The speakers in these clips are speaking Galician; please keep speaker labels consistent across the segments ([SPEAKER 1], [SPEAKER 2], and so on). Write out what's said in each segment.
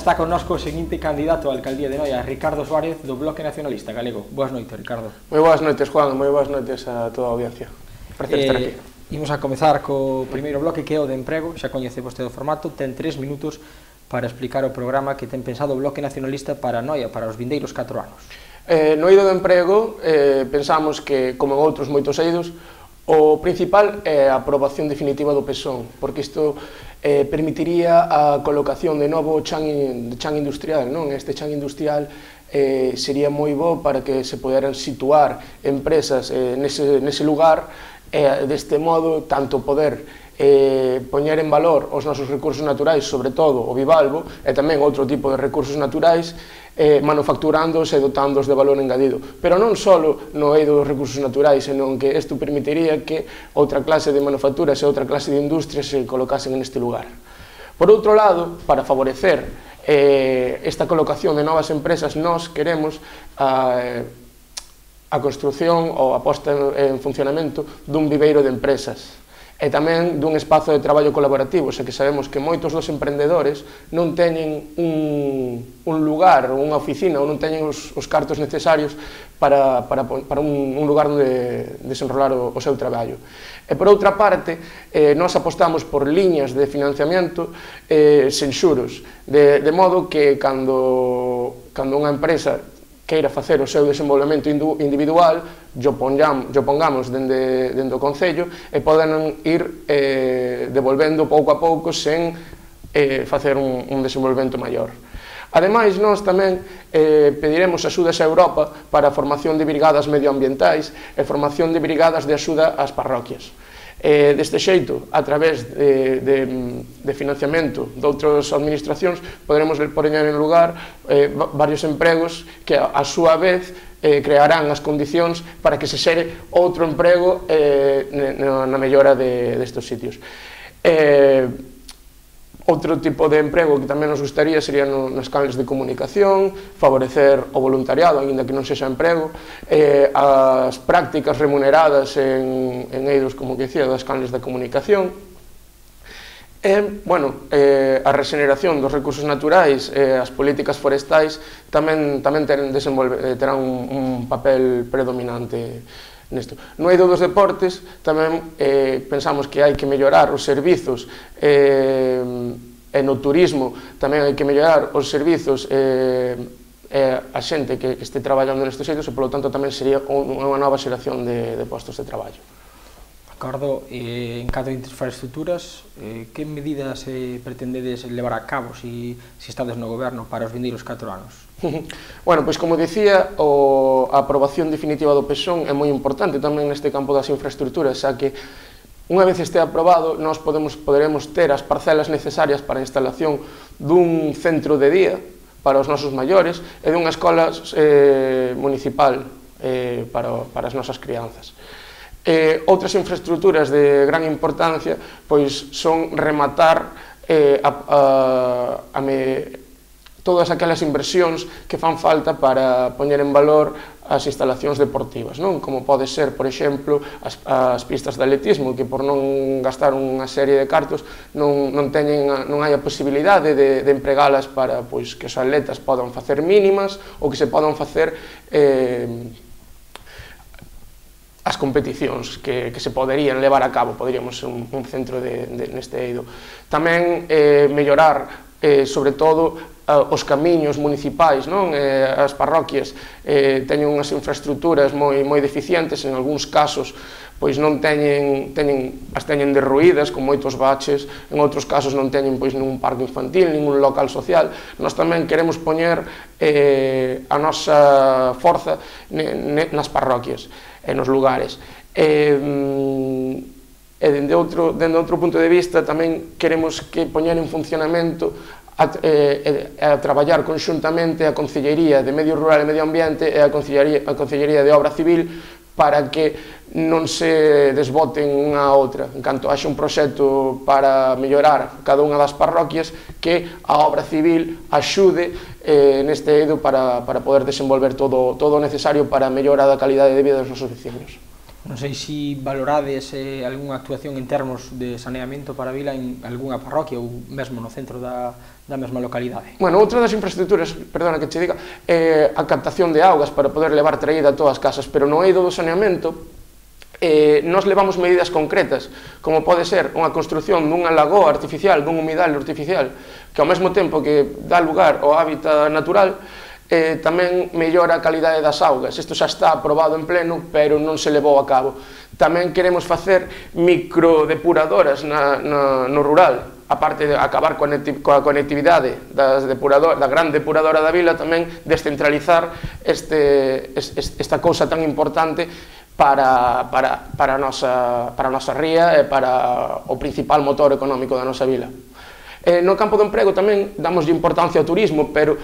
[SPEAKER 1] está connosco o seguinte candidato á alcaldía de Noia, Ricardo Suárez, do Bloque Nacionalista Galego. Boas noites, Ricardo.
[SPEAKER 2] Moi boas noites, Juan, moi boas noites a toda a audiencia. Prazer estar aquí.
[SPEAKER 1] Imos a comezar co primeiro bloque, que é o de emprego. Xa coñece vostede o formato, ten 3 minutos para explicar o programa que ten pensado o Bloque Nacionalista para Noia, para os vindeiros 4 anos.
[SPEAKER 2] No eido do emprego, pensamos que, como en outros moitos eidos, o principal é a aprobación definitiva do PSON, porque isto permitiría a colocación de novo chan industrial, non? Este chan industrial sería moi bo para que se poderan situar empresas nese lugar, deste modo, tanto poder poñer en valor os nosos recursos naturais, sobre todo o bivalvo, e tamén outro tipo de recursos naturais, manufacturándoos e dotándoos de valor engadido. Pero non só no eido dos recursos naturais, senón que isto permitiría que outra clase de manufacturas e outra clase de industrias se colocasen neste lugar. Por outro lado, para favorecer esta colocación de novas empresas, nós queremos a construción ou a posta en funcionamento dun viveiro de empresas e tamén dun espazo de traballo colaborativo, xa que sabemos que moitos dos emprendedores non teñen un lugar ou unha oficina ou non teñen os cartos necesarios para un lugar onde desenrolar o seu traballo. E por outra parte, nós apostamos por liñas de financiamento sen xuros, de modo que cando unha empresa queira facer o seu desenvolvemento individual, yo pongamos dende o Concello e poden ir devolvendo pouco a pouco sen facer un desenvolvemento maior. Ademais, nós tamén pediremos axudas a Europa para a formación de brigadas medioambientais e formación de brigadas de axuda ás parroquias. Deste xeito, a través de financiamento de outras administracións, poderemos poñer en lugar varios empregos que, a súa vez, crearán as condicións para que se xere outro emprego na mellora destes sitios. Outro tipo de emprego que tamén nos gustaría sería nos canles de comunicación, favorecer o voluntariado, aínda que non sexa emprego, as prácticas remuneradas en eidos, como que dicía, das canles de comunicación, a regeneración dos recursos naturais e as políticas forestais tamén terán un papel predominante nesto. No eido dos deportes tamén pensamos que hai que mellorar os servizos e no turismo tamén hai que mellorar os servizos a xente que este traballando nestes eidos e, polo tanto, tamén sería unha nova xeración de postos de traballo.
[SPEAKER 1] Acordo, en cada infraestructuras, que medidas pretendedes levar a cabo se estades no goberno para os vindeiros 4 anos?
[SPEAKER 2] Bueno, pois como dicía, a aprobación definitiva do PSON é moi importante tamén neste campo das infraestructuras, xa que unha vez este aprobado, nós poderemos ter as parcelas necesarias para a instalación dun centro de día para os nosos maiores e dunha escola municipal para as nosas crianzas. Outras infraestructuras de gran importancia pois son rematar todas aquelas inversións que fan falta para poñer en valor as instalacións deportivas, non? Como pode ser, por exemplo, as pistas de atletismo, que por non gastar unha serie de cartos non hai a posibilidade de empregalas para que os atletas podan facer mínimas ou que se podan facer as competicións que se poderían levar a cabo, poderíamos ser un centro neste eido. Tamén mellorar, sobre todo, os camiños municipais, as parroquias teñen unhas infraestructuras moi deficientes, en algúns casos pois non as teñen derruídas con moitos baches, en outros casos non teñen ningún parque infantil, ningún local social. Nós tamén queremos poñer a nosa forza nas parroquias e nos lugares. E dende outro punto de vista tamén queremos que poñer en funcionamento a traballar conxuntamente a Concellería de Medio Rural e Medio Ambiente e a Concellería de Obra Civil para que non se desboten unha a outra. En canto haxe un proxecto para mellorar cada unha das parroquias, que a Obra Civil axude neste eido para poder desenvolver todo o necesario para a mellora da calidade de vida dos nosos veciños.
[SPEAKER 1] Non sei se valorades algunha actuación en termos de saneamento para a vila en algunha parroquia ou mesmo no centro da mesma localidade.
[SPEAKER 2] Bueno, outra das infraestructuras, perdona que che diga, é a captación de augas para poder levar traída a todas as casas, pero no eido do saneamento nos levamos medidas concretas, como pode ser unha construción dunha lagoa artificial, dun humidal artificial, que ao mesmo tempo que dá lugar ao hábitat natural, tamén mellora a calidade das augas. Isto xa está aprobado en pleno, pero non se levou a cabo. Tamén queremos facer microdepuradoras no rural, aparte de acabar coa conectividade da gran depuradora da vila, tamén descentralizar esta cousa tan importante para a nosa ría e para o principal motor económico da nosa vila. No campo do emprego tamén damoslle importancia ao turismo, pero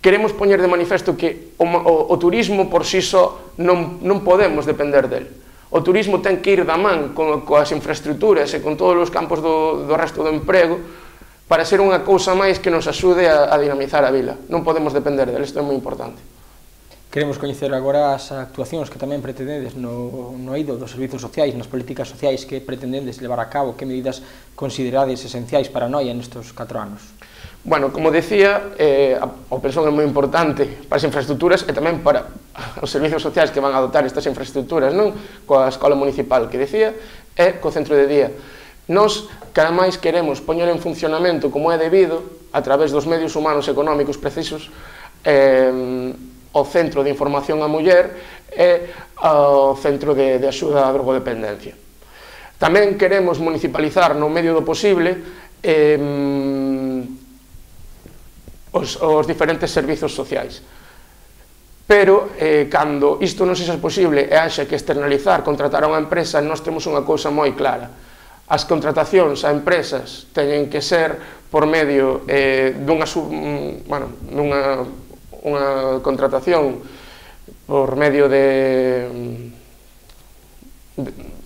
[SPEAKER 2] queremos poñer de manifesto que o turismo por si só non podemos depender del. O turismo ten que ir da man coas infraestructuras e con todos os campos do resto do emprego para ser unha cousa máis que nos axude a dinamizar a vila. Non podemos depender del, isto é moi importante.
[SPEAKER 1] Queremos coñecer agora as actuacións que tamén pretendedes no eido dos servizos sociais, nas políticas sociais que pretendedes levar a cabo, que medidas considerades esenciais para Noia nestes 4 anos.
[SPEAKER 2] Bueno, como decía, o persoal é moi importante para as infraestructuras e tamén para os servizos sociais que van a dotar estas infraestructuras, non? Coa escola municipal que decía, e co centro de día. Nos, cada máis queremos poñer en funcionamento como é debido, a través dos medios humanos e económicos precisos, o Centro de Información á Muller e o Centro de Axuda á Drogodependencia. Tamén queremos municipalizar no medio do posible os diferentes servizos sociais. Pero, cando isto non sexa posible e haxa que externalizar, contratar a unha empresa, nós temos unha cousa moi clara. As contratacións a empresas teñen que ser por medio dunha contratación por medio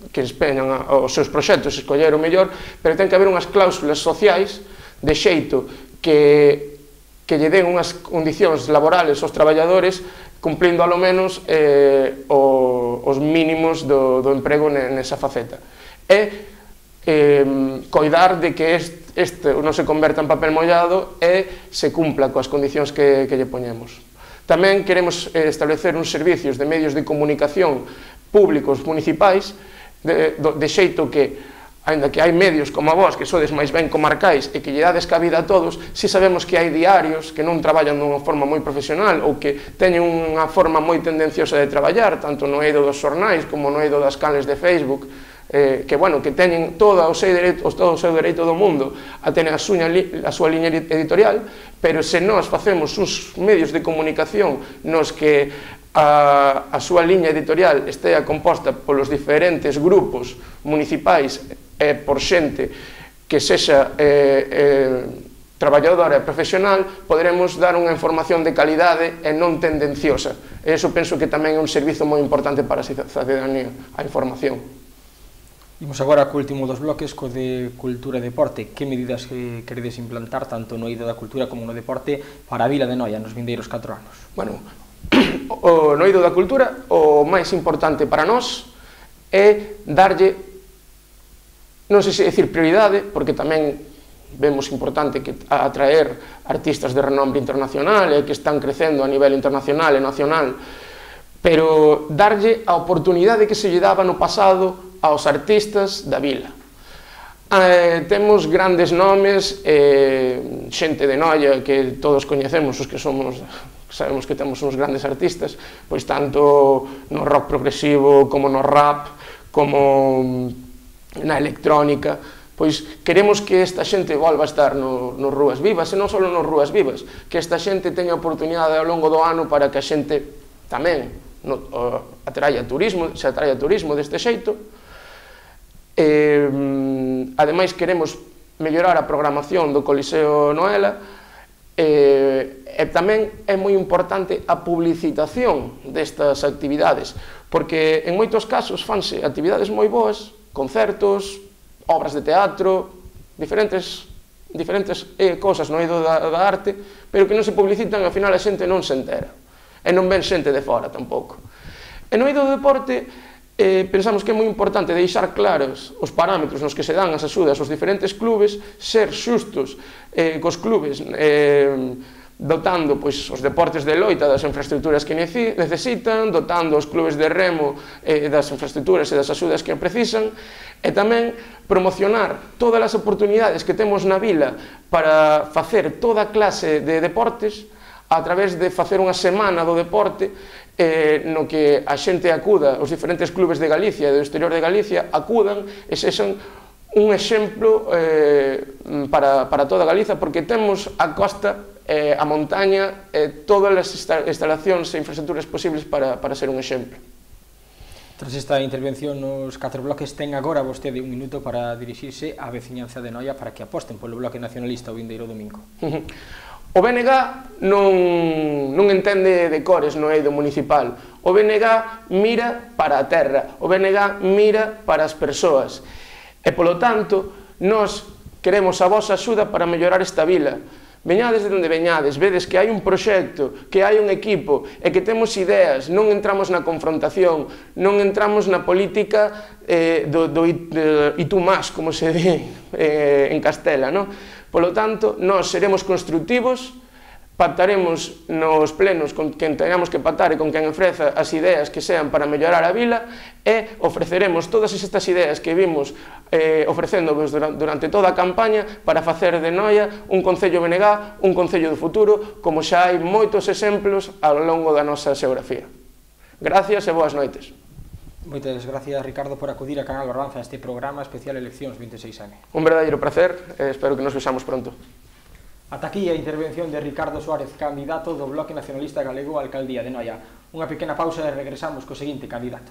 [SPEAKER 2] que empeñan os seus proxectos, escoller o mellor, pero ten que haber unhas cláusulas sociais de xeito que lle den unhas condicións laborales aos traballadores cumplindo alo menos os mínimos do emprego nesa faceta. E coidar de que este non se converta en papel mollado e se cumpla coas condicións que lle poñemos. Tamén queremos establecer uns servicios de medios de comunicación públicos municipais de xeito que, aínda que hai medios como a vos que sodes máis ben comarcais e que lle dades cabida a todos, si sabemos que hai diarios que non traballan dunha forma moi profesional ou que teñen unha forma moi tendenciosa de traballar, tanto no eido dos xornais como no eido das canles de Facebook, que teñen todo o seu dereito do mundo a tener a súa liña editorial, pero se nós facemos uns medios de comunicación nos que a súa liña editorial estea composta polos diferentes grupos municipais e por xente que sexa traballadora e profesional, poderemos dar unha información de calidade e non tendenciosa. E iso penso que tamén é un servizo moi importante para a cidadanía, a información.
[SPEAKER 1] Imos agora co último dos bloques, co de cultura e deporte. Que medidas queredes implantar tanto no eido da cultura como no deporte para a vila de Noia nos vindeiros 4 anos?
[SPEAKER 2] Bueno, no eido da cultura o máis importante para nós é darlle, non sei se decir prioridade, porque tamén vemos importante que atraer artistas de renombre internacional e que están crecendo a nivel internacional e nacional, pero darlle a oportunidade que se lle daba no pasado aos artistas da vila. Temos grandes nomes, xente de Noia que todos coñecemos, os que sabemos que temos uns grandes artistas, pois tanto no rock progresivo como no rap, como na electrónica, pois queremos que esta xente volva a estar nos Rúas Vivas, e non só nos Rúas Vivas, que esta xente teña oportunidade ao longo do ano para que a xente tamén atraia turismo deste xeito. Ademais, queremos mellorar a programación do Coliseo Noela e tamén é moi importante a publicitación destas actividades, porque en moitos casos fanse actividades moi boas, concertos, obras de teatro, diferentes cosas no eido da arte, pero que non se publicitan e ao final a xente non se entera, e non ven xente de fora tampouco. E no eido do deporte pensamos que é moi importante deixar claros os parámetros nos que se dan as axudas aos diferentes clubes, ser xustos cos clubes, dotando os deportes de loita das infraestructuras que necesitan, dotando os clubes de remo das infraestructuras e das axudas que precisan, e tamén promocionar todas as oportunidades que temos na vila para facer toda clase de deportes a través de facer unha semana do deporte no que a xente acuda, os diferentes clubes de Galicia e do exterior de Galicia acudan e sexan un exemplo para toda Galiza, porque temos a costa, a montaña, todas as instalacións e infraestructuras posibles para ser un exemplo.
[SPEAKER 1] Tras esta intervención nos 4 bloques, ten agora vostede un minuto para dirixirse á veciñanza de Noia para que aposten polo Bloque Nacionalista o vindeiro domingo.
[SPEAKER 2] O BNG non entende de cores no eido municipal. O BNG mira para a terra, o BNG mira para as persoas. E, polo tanto, nós queremos a vosa axuda para mellorar esta vila. Veñades de onde veñades, vedes que hai un proxecto, que hai un equipo e que temos ideas, non entramos na confrontación, non entramos na política do y tú más, como se di en Castela, non? Polo tanto, nós seremos constructivos, pactaremos nos plenos con quen teñamos que pactar e con quen ofreza as ideas que sean para mellorar a vila e ofreceremos todas estas ideas que vimos ofrecendo durante toda a campaña para facer de Noia un concello BNG, un concello do futuro, como xa hai moitos exemplos ao longo da nosa xeografía. Gracias e boas noites.
[SPEAKER 1] Moitas gracias, Ricardo, por acudir a Canal Barbanza a este programa especial Eleccións 26M.
[SPEAKER 2] Un verdadeiro placer e espero que nos vexamos pronto.
[SPEAKER 1] Ata aquí a intervención de Ricardo Suárez, candidato do Bloque Nacionalista Galego á Alcaldía de Noia. Unha pequena pausa e regresamos co seguinte candidato.